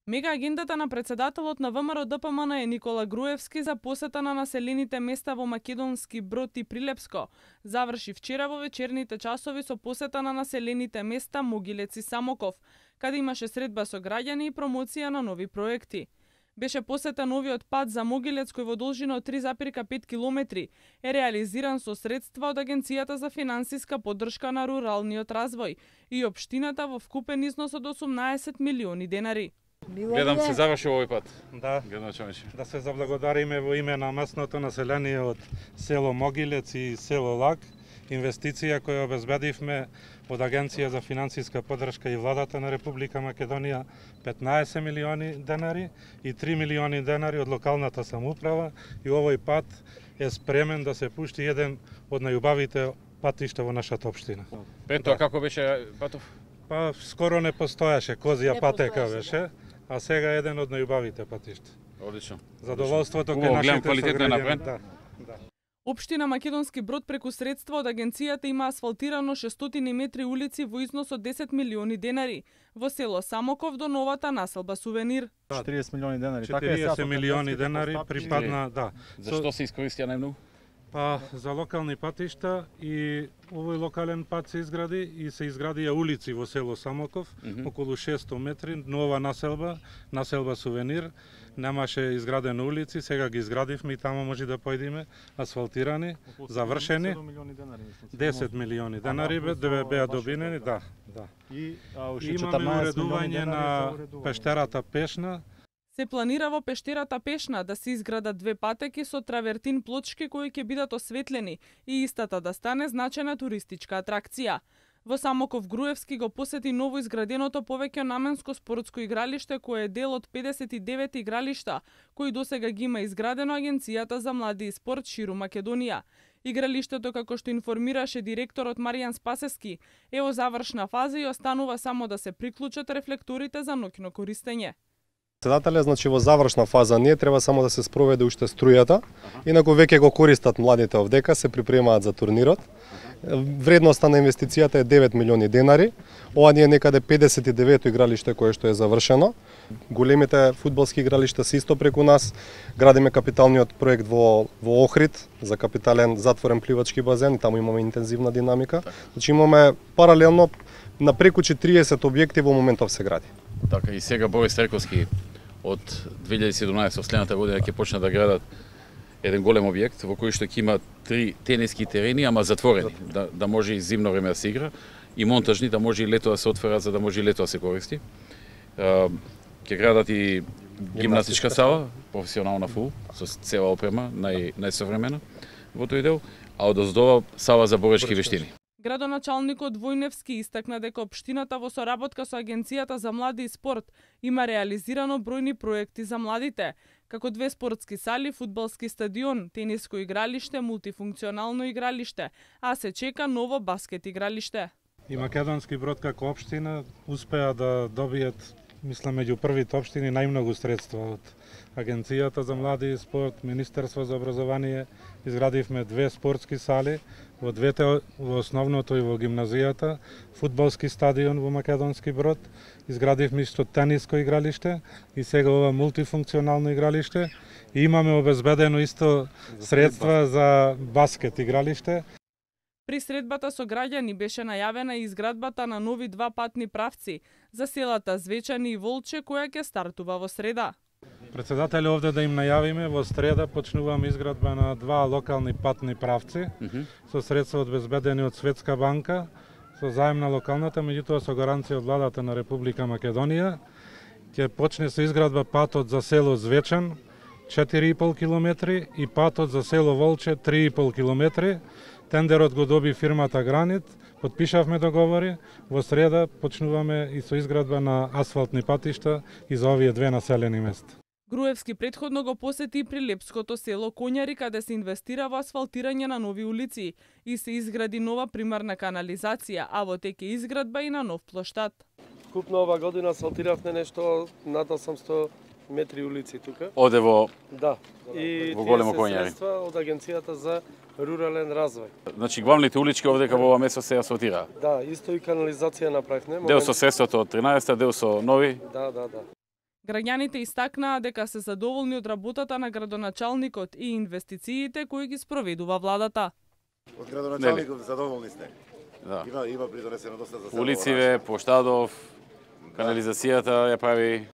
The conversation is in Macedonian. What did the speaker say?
Мега агендата на председателот на ВМРО-ДПМН е Никола Груевски за посета на населените места во Македонски Брод и Прилепско заврши вчера во вечерните часови со посета на населените места Могилец и Самоков, каде имаше средба со граѓани и промоција на нови проекти. Беше посета новиот пат за Могилец кој во должина од 3,5 километри е реализиран со средства од Агенцијата за финансиска поддршка на руралниот развој и општината во вкупен износ од 18 милиони денари. Гледам се заврши овој пат. Да. Да се заблагодариме во име на местното население од село Могилец и село Лаг, инвестиција која обезбедивме од Агенција за финансиска поддршка и владата на Република Македонија 15 милиони денари и 3 милиони денари од локалната самоуправа и овој пат е спремен да се пушти еден од најубавите патишта во нашата општина. Пето, да. Како беше патов? Па скоро не постоеше, козија патека беше, а сега е еден од најубавите патишта. Одлично. Задоволството кај нашите сограѓани. Да. Општина Македонски Брод преку средства од агенцијата има асфалтирано 600 метри улици во износ од 10 милиони денари во село Самоков до новата населба Сувенир. 40 милиони денари. 40 милиони денари припадна, да. Зашто се искористија најмногу? Па за локални патишта и овој локален пат се изгради и се изградија улици во село Самоков, околу 600 метри, нова населба Сувенир. Немаше изградени улици, сега ги изградивме и таму може да појдеме асфалтирани, завршени. 10 милиони денари беа добинени, да. И имаме уредување на пештерата Пешна. Се планира во пештерата Пешна да се изградат две патеки со травертин плочки кои ќе бидат осветлени и истата да стане значајна туристичка атракција. Во Самоков Груевски го посети ново изграденото повеќе наменско спортско игралиште кое е дел од 59 игралишта кои досега ги има изградено Агенцијата за млади и спорт ширум Македонија. Игралиштето, како што информираше директорот Маријан Спасески, е во завршна фаза и останува само да се приклучат рефлекторите за ноќно користење. Председателят, значи во завршна фаза не треба само да се спроведе уште струјата, инаку веќе го користат младите овдека, се припремаат за турнирот. Вредноста на инвестицијата е 9 милиони денари. Ова ни е некаде 59-то игралиште кое што е завршено. Големите фудбалски игралишта се исто преку нас. Градиме капиталниот проект во Охрид за капитален затворен пливачки базен и таму имаме интензивна динамика. Значи имаме паралелно на преку 40 објекти во моментов се гради. Така и сега Борис Трековски од 2017 следната година ќе почне да градат еден голем објект во кој што ќе има 3 тениски терени, ама затворени, да може и зимно време да се игра, и монтажни, да може и лето да се отвора, за да може и лето да се користи. Ќе градат и гимнастичка сала, професионална фул, со цела опрема, најсовремена во тој дел, а одоздова сала за боречки вештини. Градоначалникот Војневски истакна дека општината во соработка со Агенцијата за млади и спорт има реализирано бројни проекти за младите, како 2 спортски сали, фудбалски стадион, тениско игралиште, мултифункционално игралиште, а се чека ново баскет игралиште. И Македонски Брод како општина успеа да добијат, мислам, меѓу првите општини најмногу средства од Агенцијата за млади и спорт, Министерство за образование. Изградивме 2 спортски сали, во двете, во основното и во гимназијата, фудбалски стадион во Македонски Брод, изградивме исто тениско игралиште и сега ова мултифункционално игралиште и имаме обезбедено исто средства за баскет игралиште. При средбата со граѓани беше најавена и изградбата на нови 2 патни правци за селата Звечани и Волче која ќе стартува во среда. Председател, овде да им најавиме, во среда почнуваме изградба на 2 локални патни правци со средства обезбедени од Светска банка, со заем на локалната, меѓутоа со гаранција од владата на Република Македонија. Ќе почне со изградба патот за село Звечан 4,5 километри и патот за село Волче 3,5 километри. Тендерот го доби фирмата Гранит, подпишавме договори, во среда почнуваме и со изградба на асфалтни патишта и за овие 2 населени места. Груевски претходно го посети прилепското село Коњари, каде се инвестира во асфалтирање на нови улици и се изгради нова примарна канализација, а во теке изградба и на нов плоштад. Купно ова година асфалтиравме нешто над 800 метри улици тука. Оде во и во големо Коњари. Средства од Агенцијата за рурален развој. Значи главните улички овдека во ова место се асфалтираа. Да, исто и канализација направивме. Дел со средството од 13-та, дел со нови. Да. Граѓаните истакнаа дека се задоволни од работата на градоначалникот и инвестициите кои ги спроведува владата. Од градоначалникот задоволни сте? Да. Има придонесено доста за село. Улициве, Поштадов, канализацијата ја прави